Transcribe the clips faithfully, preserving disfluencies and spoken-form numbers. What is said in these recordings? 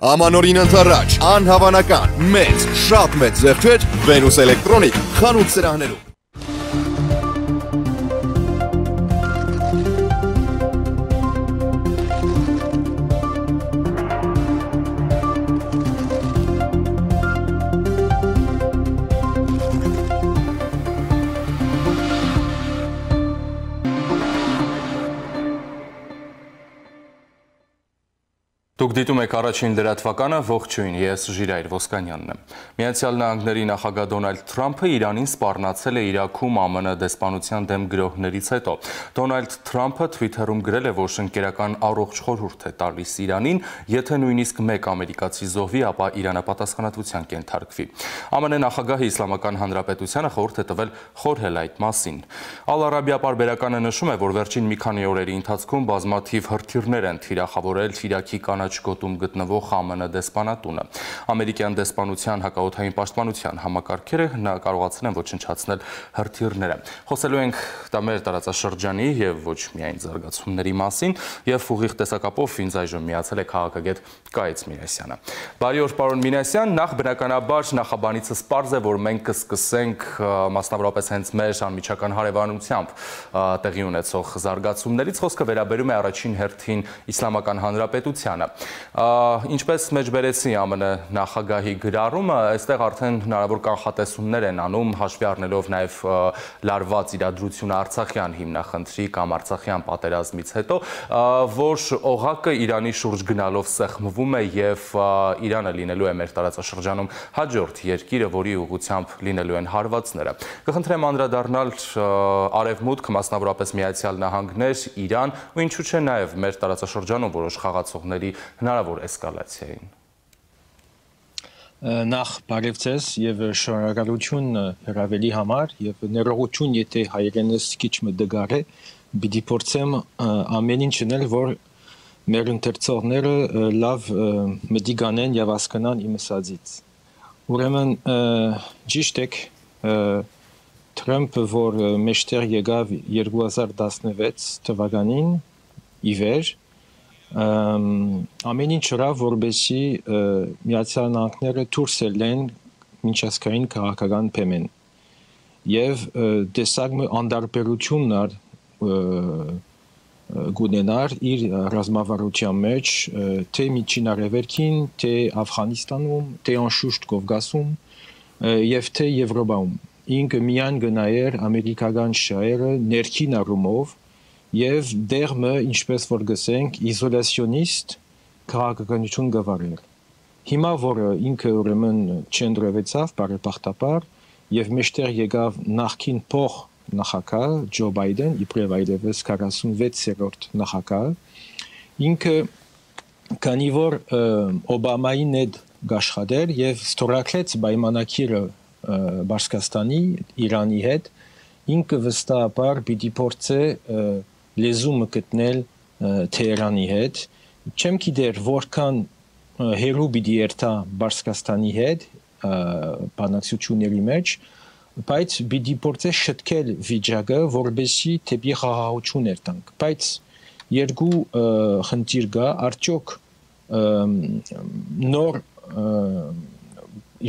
Ամանորին ընթառաջ, անհավանական, մեծ, շատ մեծ զեղչեր Venus Electronic խանութ սրահներում։ Դուք դիտում եք առաջին լրատվականը, ողջույն, ես Ժիրայր Ոսկանյանն եմ։ Միացյալ Նահանգների նախագահ Դոնալդ Թրամփը Իրանին սպառնացել է Իրաքում ԱՄՆ դեսպանության դեմ գրոհներից հետո։ Դոնալդ Թրամփը Twitter-ում գրել է, որ շնկերական առողջ խորհուրդ է տալիս Իրանին, եթե նույնիսկ մեկ ամերիկացի զոհվի, ապա Իրանը պատասխանատվության կենթարկվի։ ԱՄՆ նախագահը Իսլամական Հանրապետությանը խորհուրդ է տվել խորհել այդ մասին։ Ալ Արաբիա պարբերականը նշում է, որ վերջին մի քանի օրերի ընթացքում բազմաթիվ հրթիռներ են թիրախավորել Իրաքի կանաչ գոտում գտնվող ԱՄՆ դեսպանատունը։ Ամերիկյան դեսպանության հակաօդային պաշտպանության համակարգերը կարողացել են ոչնչացնել հրթիռները։ Խոսելու ենք դա մեր տարածաշրջանի եւ ոչ միայն զարգացումների մասին, եւ ուղիղ տեսակապով ինձ այժմ միացել է քաղաքագետ Կայեծ Մինասյանը։ Բարի օր, պարոն Մինասյան, նախ բնականաբար նախաբանիցս պարզ է, որ մենք կսկսենք մասնավորապես հենց մեր անմիջական հարևանությամբ տեղի ունեցող զարգացումներից, խոսքը վերաբերում է առաջին հերթին Իսլամական Հանրապետությանը։ Ինչպես մեջբերեցի ԱՄՆ նախագահի գրառումը, այստեղ արդեն հնարավոր կանխատեսումներ են անում, հաշվի առնելով նաև լարված իրադրությունը Արցախյան հիմնախնդրի կամ Արցախյան պատերազմից հետո, որ օղակը Իրանի շուրջ գնալով սեղմվում է եւ Իրանը լինելու է մեր տարածաշրջանում հաջորդ երկիրը, որի ուղղությամբ լինելու են հարվածները։ Կխնդրեմ անդրադառնալ Արևմուտք, մասնավորապես Միացյալ Նահանգներ, Իրան ու ինչու՞ չէ նաև մեր տարածաշրջանում որոշ խաղացողների հնարավոր էսկալացիային։ Նախ բարև ձեզ եւ շնորհակալություն հրավերի համար եւ ներողություն, եթե հայերենս քիչ մտգար է, պիտի փորձեմ ամեն ինչ անել, որ մեր ընթերցողները լավ մտիգանեն եւ հասկանան իմ ասածից։ Ուրեմն ճիշտ է, Թրամփը, որ մեջտեղ եկավ երկու հազար տասնվեց թվականին ի վեր, ամեն ինչ ըրավ, որպեսզի Միացյալ Նահանգները դուրս ելեն միջազգային քաղաքական բեմեն եւ տեսակ մի անդարբերություններ գունենար իր ռազմավարության մեջ, թե Միջին Արևելքին, թե Աֆղանստանում, թե անշուշտ Կովկասում եւ թե Եվրոպայում։ Ինքը միայն գնայր ամերիկական շահերը ներքին առումով եւ դերմը, ինչպես որ գսենք, իզոլացիոնիստ քաղաքականություն գվարել։ Հիմա որ ինքը ուրեմն չընտրվեցավ բարեբախտաբար եւ մեջտեղ եկավ նախքին փող նախագահ Ջո Բայդեն, իբրև այդպես քառասունվեցերորդ նախագահ, ինքը քանի որ Օբամային հետ գաշխատեր եւ ստորագրեց պայմանակիրը Բաշկաստանի, Իրանի հետ, ինքը վստահաբար պիտի փորձե լեզումը գտնել Թեհրանի հետ, չեմ գիտեր որքան հերու պիտի երթա Բաշկաստանի հետ բանակցությունների մեջ, բայց պիտի փորձե շտկել վիճակը, որպեսզի դեպի խաղաղություն երթանք, բայց երկու խնդիր կա, արդյոք նոր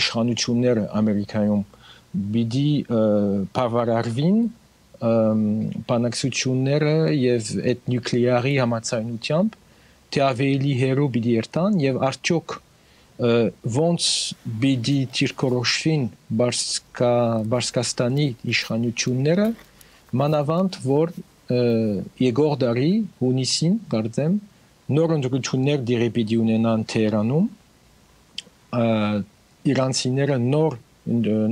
իշխանությունները Ամերիկայում պիտի բավարարվին բանակցությունները եւ այդ նյուկլեարի համաձայնությամբ, թե ավելի հերու պիտի երթան եւ արդյոք ոնց պիտի դիրքորոշվին Բաշկաստանի իշխանությունները, մանավանդ որ երկրորդ դարի հունիսին, կարծեմ, նոր ընտրություններ դիրի պիտի ունենան Թեհրանում, իրանցիները նոր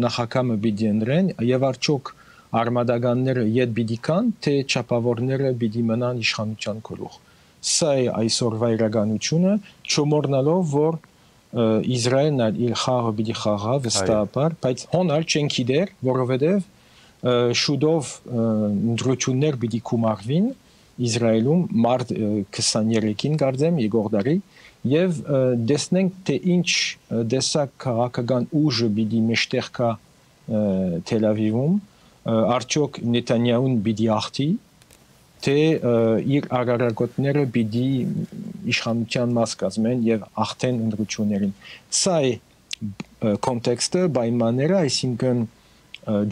նախագահը պիտի ընտրեն եւ արդյոք արմադականները յետ պիտի կան, թե չափավորները պիտի մնան իշխանության գլուխ։ Սա է այսօրվա իրականությունը, չմոռնալով, որ Իսրայելն իր խաղը պիտի խաղա վստահաբար, բայց հոնալ չեն գիտեր, որովհետեւ շուտով ընտրություններ պիտի կումարվին Իսրայելում մարտ քսաներեքին կարծեմ երկրորդ դարի եւ դեսնենք թե ինչ դեսակ քաղաքական ուժը պիտի մեջտեղ կա Թել Ավիվում, արդյոք Նեթանյահուն պիտի ախտի թե իր արարակոտները պիտի իշխանության մաս կազմեն եւ ախտեն ընդրություններին։ Սա է կոնտեքստը, պայմանները, այսինքն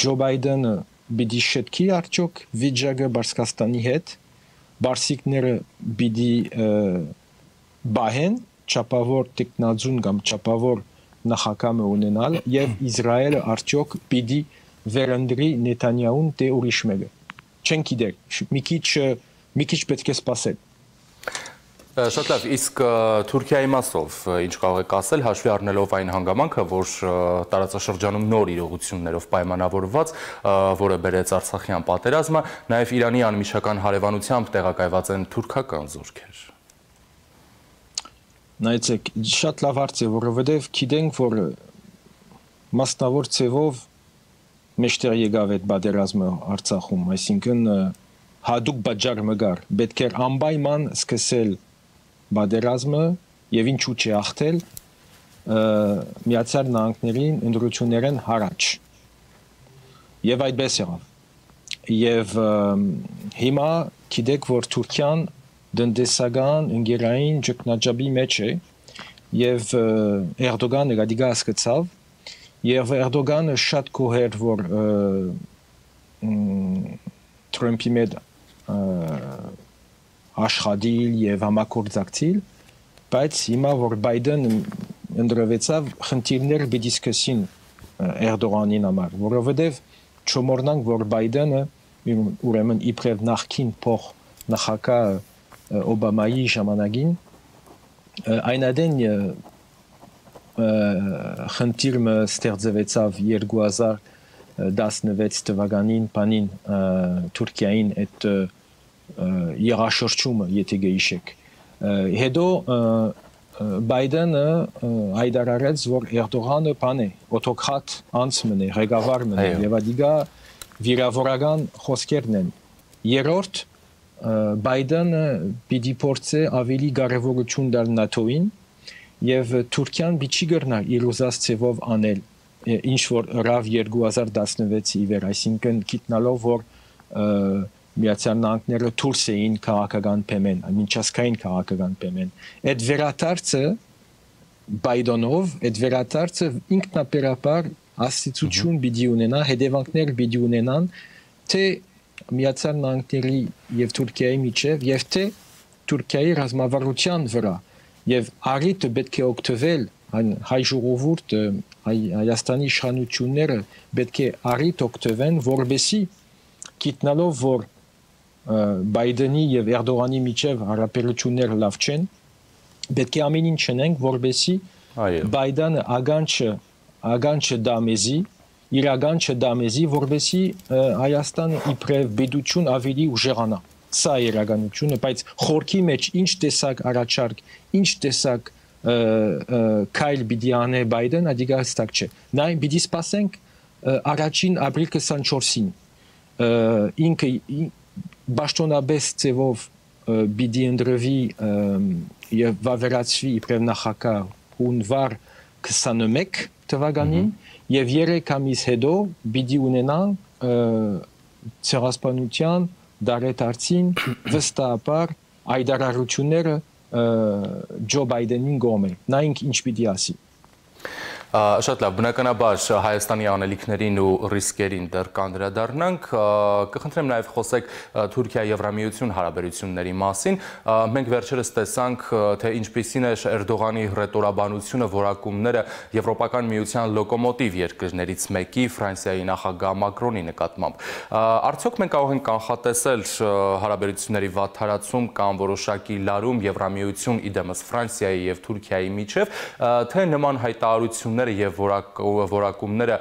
Ջո Բայդենը պիտի շտկի արդյոք վիճակը Բարսկաստանի հետ, բարսիկները պիտի բահեն չափավոր տեխնազուն կամ չափավոր նախագահ ունենալ եւ Իսրայելը արդյոք պիտի վերընտրի Նեթանյահուն թե ուրիշ մեկը։ Չեն գիտեր, մի քիչ մի քիչ պետք է սպասել։ Շատ լավ, իսկ Թուրքիայի մասով ինչ կարող եք ասել, հաշվի առնելով այն հանգամանքը, որ տարածաշրջանում նոր իրողություններով պայմանավորված, որը բերեց Արցախյան պատերազմը, նաև Իրանի անմիջական հարևանությամբ տեղակայված են թուրքական զորքեր։ Նայեցեք, շատ լավ հարց է, որովհետև գիտենք, որ մասնավոր ձևով մեջտեղ եկավ այդ պատերազմը Արցախում, այսինքն հատուկ պատճառ մգար, պետք էր անպայման սկսել պատերազմը եւ ինչու՞ չի ախտել Միացյալ Նահանգներին ընդրություններն հարաճ։ Եվ այդպես եղավ։ Եվ հիմա գիտեք, որ Թուրքիան դնդեսական ընկերային ճգնաժամի մեջ է եւ Էրդողանը գադիգա հասկացավ եւ Էրդողանը շատ կոհեր որ Թրամփի հետ աշխատել եւ համագործակցել, բայց հիմա որ Բայդենը ընդրվեցավ, խնդիրներ պիտի սկսին Էրդողանին համար, որովհետեւ չմոռնանք, որ Բայդենը ուրեմն իբրև նախքին փոխ նախագահ Օբամայի ժամանակին այնադեն խնդիրը ստեղծվեցավ երկու հազար տասնվեց թվականին բանին Թուրքիային այդ երաշրջումը, եթե գիշեք։ Հետո Բայդենը հայտարարեց, որ Էրդողանը բան է, օտոկրատ անձն է, ղեկավարն է, եւ ադիգա վիրավորական խոսքերն են։ Երրորդ Բայդենը պիտի փորձի ավելի կարևորություն տալ ՆԱՏՕ-ին եւ Թուրքիան պիտի գրնար իր ուզած ձևով անել ինչ որ ռավ երկու հազար տասնվեցի վեր, այսինքն գիտնալով որ Միացյալ Նահանգները դուրս էին քաղաքական բեմեն, միջազգային քաղաքական բեմեն։ Այդ վերադարձը Բայդենով, այդ վերադարձը ինքնաբերաբար աստիճություն պիտի ունենա, հետևանքներ պիտի ունենան, թե Միացյալ Նահանգների եւ Թուրքիայի միջև եւ թե Թուրքիայի ռազմավարության վրա եւ առիթը պետք է օգտվել հայ ժողովուրդը Հայաստանի իշխանությունները պետք է առիթ օգտվեն որբեսի գիտնալով որ Բայդենի եւ Էրդողանի միջև հարաբերությունները լավ չեն պետք է ամեն ինչ անենք որբեսի Բայդենը ագանչը ագանչը դամեզի իրական չդամեզի որբեսի Հայաստանը իբրև բեդություն ավելի ուժեղանա սա է իրականությունը բայց խորքի մեջ ինչ տեսակ առաջարկ ինչ տեսակ քայլ պիտի անի Բայդեն ադիգա հստակ չէ նայ պիտի սպասենք առաջին ապրիլ քսանչորսին ինքը բաշտոնաբես ձևով պիտի ընդրվի եւ վավերացվի իբրև նախագահ հունվար քսաներեք թվականին եւ երեք ամիս հետո պիտի ունենան ցեղասպանության դարետարցին վստահաբար այդարարությունները Ջո Բայդենին գոմե նայենք ինչ պիտի ասի Շատ լավ, բնականաբար Հայաստանի անելիքներին ու ռիսկերին դեռ կանդրադառնանք, կխնդրեմ նաև խոսեք Թուրքիա-Եվրամիություն հարաբերությունների մասին։ Մենք վերջերս տեսանք, թե ինչպիսին է Էրդողանի ռետորաբանությունը, որակումները Եվրոպական միության լոկոմոտիվ երկրներից մեկի Ֆրանսիայի նախագահ Մակրոնի նկատմամբ։ Արդյոք մենք կարող ենք կանխատեսել հարաբերությունների վատթարացում կամ որոշակի լարում Եվրամիություն իդեմս Ֆրանսիայի եւ Թուրքիայի միջև, թե նման հայտարարություն եւ որակումները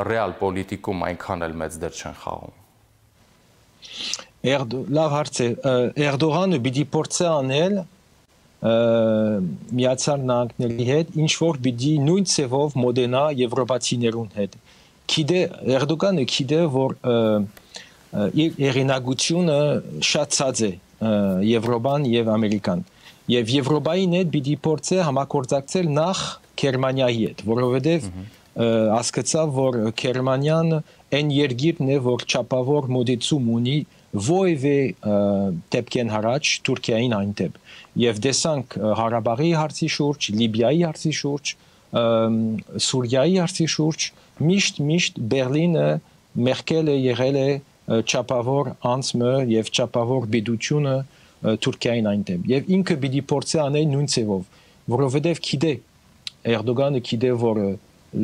ռեալ պոլիտիկում այնքան էլ մեծ դեր չեն խաղում։ Լավ հարց է, Էրդողանը պիտի փորձի անել Միացյալ Նահանգների հետ, ինչ որ պիտի նույն ձևով մոդենա եվրոպացիներուն հետ։ Գիտե Էրդողանը գիտե, որ իր հեղինակությունը շատ ցած է Եվրոպան եւ Ամերիկան։ Եվ Եվրոպային հետ պիտի փորձի համագործակցել նախ Գերմանիայի հետ, որովհետև հասկացավ, որ Գերմանիան այն երկիրն է, որ չափավոր մոդեցում ունի ովևէ դեպքեն հարաճ Թուրքիային այնտեղ եւ դեսանք Հարաբաղի հարցի շուրջ, Լիբիայի հարցի շուրջ, Սուրիայի հարցի շուրջ միշտ միշտ Բերլինը Մերկելը եղել է չափավոր անձը եւ չափավոր բիդությունը Թուրքիային այնտեղ եւ ինքը պիտի փորձի անել նույն ձևով, որովհետեւ գիտե Էրդողանը գիտե որ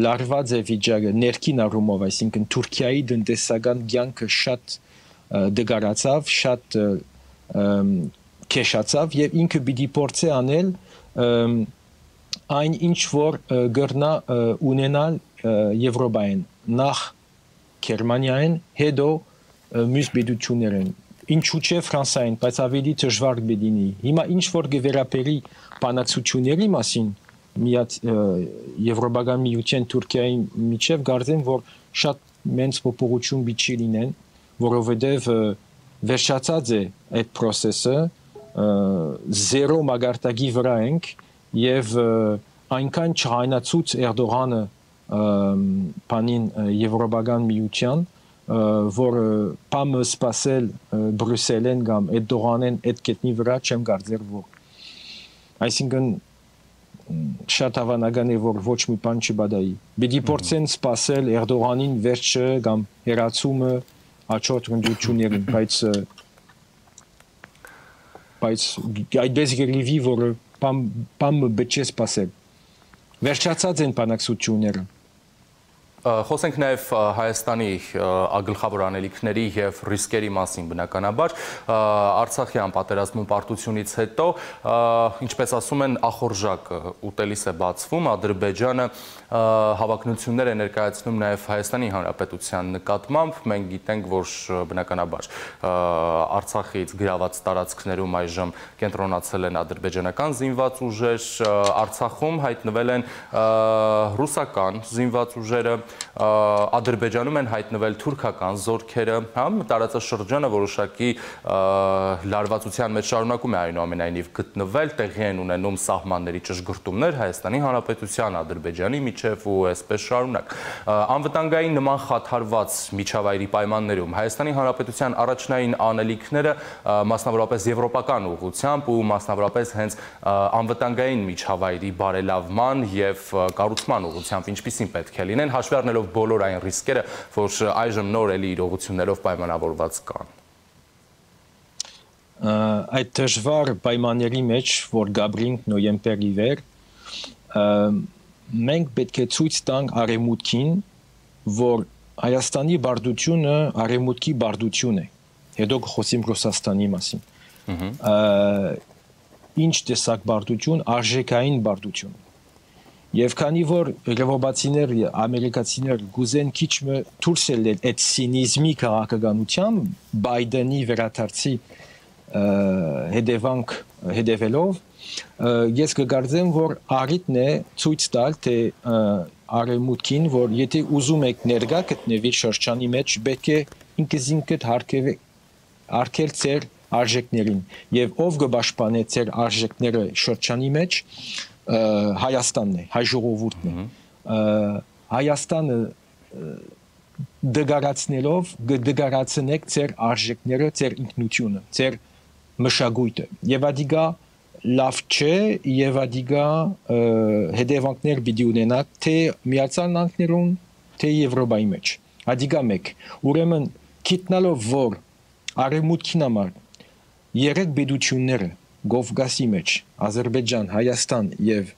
լարված է վիճակը ներքին առումով, այսինքն Թուրքիայի տնտեսական կյանքը շատ դգարացավ, շատ քեշացավ եւ ինքը պիտի փորձի անել այն ինչ որ գրնա ունենալ Եվրոպային, նախ Գերմանիային, հետո մյուս բիդություններին, ինչու՞ չէ Ֆրանսիային, բայց ավելի դժվար կլինի։ Հիմա ինչ որ կվերապերի բանակցությունների մասին միած Եվրոպական միության Թուրքիայի միջև կարծեմ որ շատ մեծ փոփոխություն բիչի լինեն, որովհետև վերջացած է այդ process-ը, զերո մագարտակի վրա ենք եւ այնքան չհայնացուց Էրդողանը բանին Եվրոպական միության, որ բամը սпасել Բրյուսելեն կամ Էրդողանեն այդ կետնի վրա չեմ կարծեր որ այսինքն շատ հավանական է որ ոչ մի բան չբադայի։ Պիտի փորձեն սпасել Էրդողանին վերջը կամ հերացումը աչոտ ընդդություններին, բայց բայց այդպես գերիվի որ բամ բամ բեչես սпасել։ Վերջացած են բանակցությունները։ Խոսենք նաև Հայաստանի գլխավոր անելիքների եւ ռիսկերի մասին բնականաբար Արցախյան պատերազմում պարտությունից հետո ինչպես ասում են ախորժակ ուտելիս է բացվում Ադրբեջանը հավակնություններ է ներկայացնում նաև Հայաստանի Հանրապետության նկատմամբ մենք գիտենք որ բնականաբար Արցախից գրաված տարածքներում այժմ կենտրոնացել են ադրբեջանական զինված ուժեր Արցախում հայտնվել են ռուսական զինված ուժերը Ադրբեջանում են հայտնվել թուրքական զորքերը, համ տարածաշրջանը որոշակի լարվածության մեջ շարունակում է այնուամենայնիվ գտնվել, տեղի են ունենում սահմանների ճշգրտումներ Հայաստանի Հանրապետության, Ադրբեջանի միջև ու այսպես շարունակ։ Անվտանգային նման խաթարված միջավայրի պայմաններում Հայաստանի Հանրապետության առաջնային անելիքները մասնավորապես եվրոպական ուղղությամբ ու մասնավորապես հենց անվտանգային միջավայրի բարելավման եւ կառուցման ուղղությամբ ինչպիսին պետք է լինեն, հաշվի առնելով բոլոր այն ռիսկերը, որ այժմ նոր էլի իրողություններով պայմանավորված կան։ Այդ դժվար պայմանների մեջ, որ գաբրինք նոյեմբերի վեր, մենք պետք է ցույց տանք արևմուտքին, որ Հայաստանի բարդությունը արևմուտքի բարդություն է։ Հետո խոսիմ Ռուսաստանի մասին։ Ինչ տեսակ բարդություն, արժեքային բարդություն։ Եվ քանի որ եվրոպացիներ, ամերիկացիներ գուզեն քիչ մը դուրս ելնել այդ սինիզմի քաղաքականությամբ, Բայդենի վերադարձի հետևանք հետևելով, ես կգարձեմ, որ առիթն է ցույց տալ, թե արևմուտքին, որ եթե ուզում եք ներկա գտնվի շրջանի մեջ, պետք է ինքզինքդ արգել ձեր արժեքներին, եւ ով կպաշտպանե ձեր արժեքները շրջանի մեջ, Հայաստանն է, հայ ժողովուրդն է։ Հայաստանը դգարացնելով դգարացնեք ձեր արժեքները, ձեր ինքնությունը, ձեր մշակույթը։ Եվ ադիգա լավ չէ, եւ ադիգա հետևանքներ պիտի ունենա թե Միացյալ Նահանգներում, թե Եվրոպայի մեջ։ Ադիգա մեկ։ Ուրեմն գիտնալով որ արևմուտքին համար երեք բեդությունները Կովկասի մեջ, Ադրբեջան, Հայաստան եւ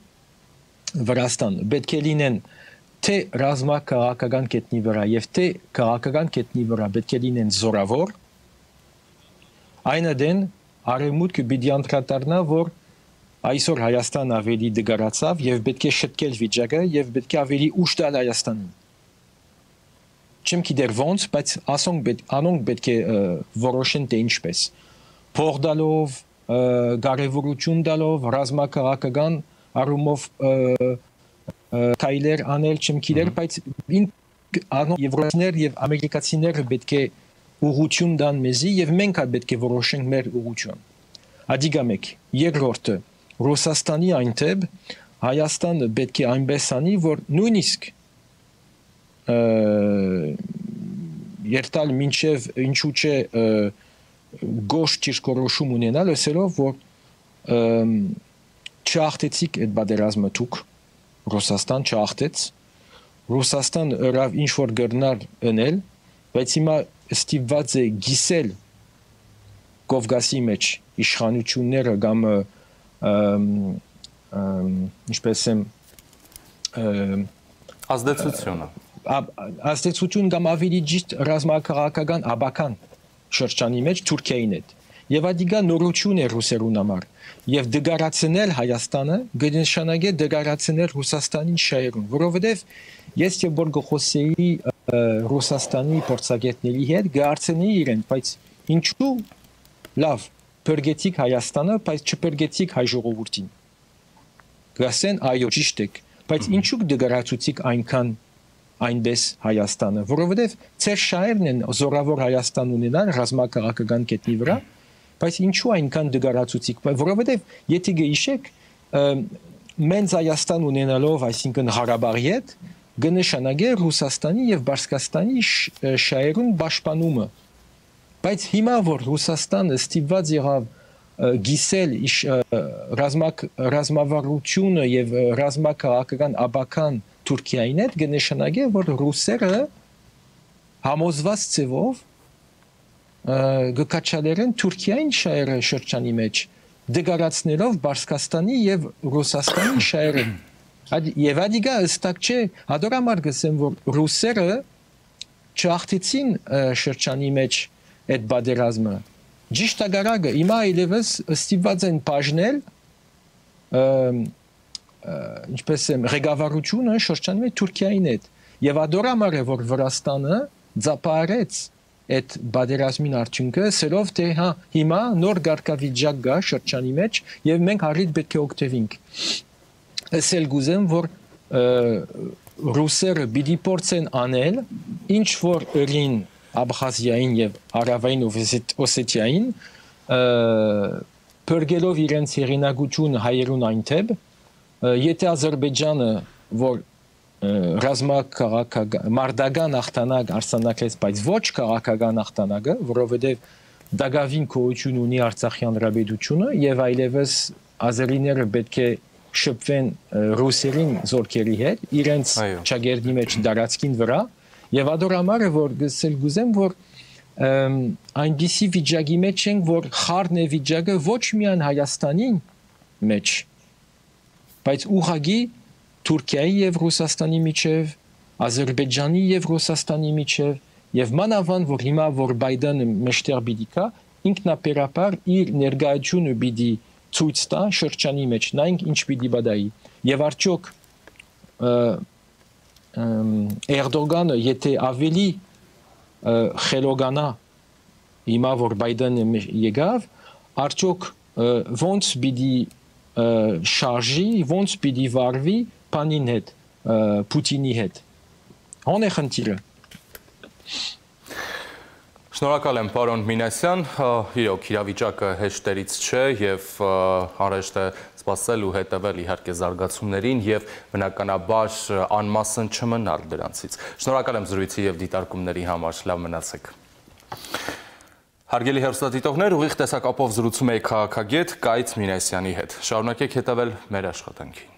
Վրաստան պետք է լինեն թե ռազմաքաղաքական կետնի վրա եւ թե քաղաքական կետնի վրա պետք է լինեն զորավոր, այնադեն արևմուտքը պիտի անդրադառնա, որ այսօր Հայաստան ավելի դգարացավ եւ պետք է շտկել վիճակը եւ պետք է ավելի ուշ տալ Հայաստանին։ Չեմ գիտեր ոնց, բայց ասոնք անոնք պետք է որոշեն թե ինչպես։ Փող տալով կարևորություն տալով ռազմաքաղաքական առումով քայլեր անել չեմ գիտեր, բայց եվրոպացիներ եւ ամերիկացիները պետք է ուղղություն տան մեզի եւ մենք հա պետք է որոշենք մեր ուղղություն։ Ադիգա մեկ, երկրորդը Ռուսաստանի այնտեղ Հայաստանը պետք է այնպես անի, որ նույնիսկ երթալ մինչև ինչու՞ չէ գոշ ճիշտ ունենալ, ասելով, որ չախտեցիք այդ բادرազմը դուք, Ռուսաստան չախտեց, Ռուսաստան ըրավ ինչ-որ գրնար ընել, բայց հիմա ստիպված է գիսել Կովկասի մեջ իշխանությունները կամ ինչպես եմ ազդեցությունը ազդեցություն կամ ավելի ճիշտ ռազմաքաղաքական աբական շրջանի մեջ Թուրքիային հետ եւ ադիգա նորություն է ռուսերուն համար եւ դգարացնել Հայաստանը գնշանագե դգարացնել Ռուսաստանին շահերուն որովհետեւ ես եւ որ գխոսեի Ռուսաստանի փորձագետների հետ գարցնեի իրեն բայց ինչու լավ բերգեցիք Հայաստանը բայց չբերգեցիք հայ ժողովրդին գասեն այո ճիշտ է բայց ինչու դգարացուցիք այնքան այնպես Հայաստանը որովհետեւ ծեր շահերն են զորավոր Հայաստան ունենան ռազմաքաղաքական կետնի վրա բայց ինչու այնքան դգարացուցիք որովհետեւ եթե գիշեք մենց Հայաստան ունենալով այսինքն Ղարաբաղի հետ գնշանագե Ռուսաստանի եւ Բարսկաստանի շահերուն պաշտպանումը բայց հիմա որ Ռուսաստանը ստիպված եղավ գիսել ռազմակ ռազմավարությունը եւ ռազմաքաղաքական աբական Թուրքիային հետ գնշանագե որ ռուսերը համոզված ծևով գկաչալերեն Թուրքիային շահերը շրջանի մեջ դգարացնելով Բարսկաստանի եւ Ռուսաստանի շահերը եւ ադիգա ըստակ չէ հադորամար գսեմ որ ռուսերը չախտեցին շրջանի մեջ այդ բادرազմը ճիշտ ագարագը հիմա այլևս ստիպված են բաժնել ինչպես եմ ղեկավարությունը շրջանի մեջ Թուրքիային հետ եւ ադորամար է որ Վրաստանը ձապարեց այդ բادرազմին արդյունքը սերով թե հա հիմա նոր գարկավիճակ գա շրջանի մեջ եւ մենք հարիդ պետք է օգտվենք ասել գուզեմ որ ռուսերը պիտի փորձեն անել ինչ որ ըրին Աբխազիային եւ Հարավային Օսեթիային բերգելով իրենց հերինակությունը հայերուն այնտեղ եթե Ադրբեջանը որ ռազմաքաղաքական մարտական ախտանակ արսանակեց բայց ոչ քաղաքական ախտանակը որովհետեւ դագավին կողություն ունի Արցախյան հանրապետությունը եւ այլևս ազերիները պետք է շփվեն ռուսերին զորքերի հետ իրենց ճագերդի մեջ դարածքին վրա եւ ադորամարը որ գսել գուզեմ որ այնպիսի վիճակի մեջ ենք որ խառն է վիճակը ոչ միայն Հայաստանին մեջ բայց ուղղակի Թուրքիայի եւ Ռուսաստանի միջև Ադրբեջանի եւ Ռուսաստանի միջև եւ մանավանդ որ հիմա որ Բայդենը մեջտեղ պիտի կա ինքնաբերաբար իր ներկայությունը պիտի ցույց տա շրջանի մեջ նայենք ինչ պիտի բադայի եւ արդյոք Էրդողանը եթե ավելի խելոկանա հիմա որ Բայդենը եկավ արդյոք ոնց պիտի շարժի ոնց պիտի վարվի Պանին հետ Պուտինի հետ ո՞ն է խնդիրը Շնորհակալ եմ պարոն Մինասյան, իրոք իրավիճակը հեշտերից չէ եւ անհրաժեշտ է սպասել ու հետևել իհարկե զարգացումներին եւ բնականաբար անմասն չմնալ դրանցից։ Շնորհակալ եմ զրույցի եւ դիտարկումների համար, լավ մնացեք։ Հարգելի հեռուստադիտողներ, ուղիղ տեսակապով զրուցում էի քաղաքագետ Կայծ Մինասյանի հետ։ Շարունակեք հետևել մեր աշխատանքին։